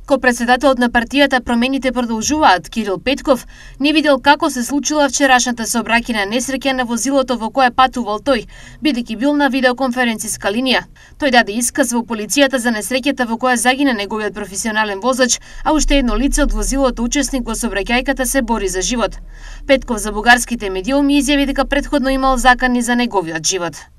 Ко-председателот на партијата Промените продолжуваат, Кирил Петков, не видел како се случила вчерашната сообраќајна несреќа на возилото во кое патувал тој, бидејќи бил на видеоконференциска линија. Тој даде исказ во полицијата за несреќата во која загина неговиот професионален возач, а уште едно лице од возилото учесник во сообраќајката се бори за живот. Петков за бугарските медиуми изјави дека претходно имал закани за неговиот живот.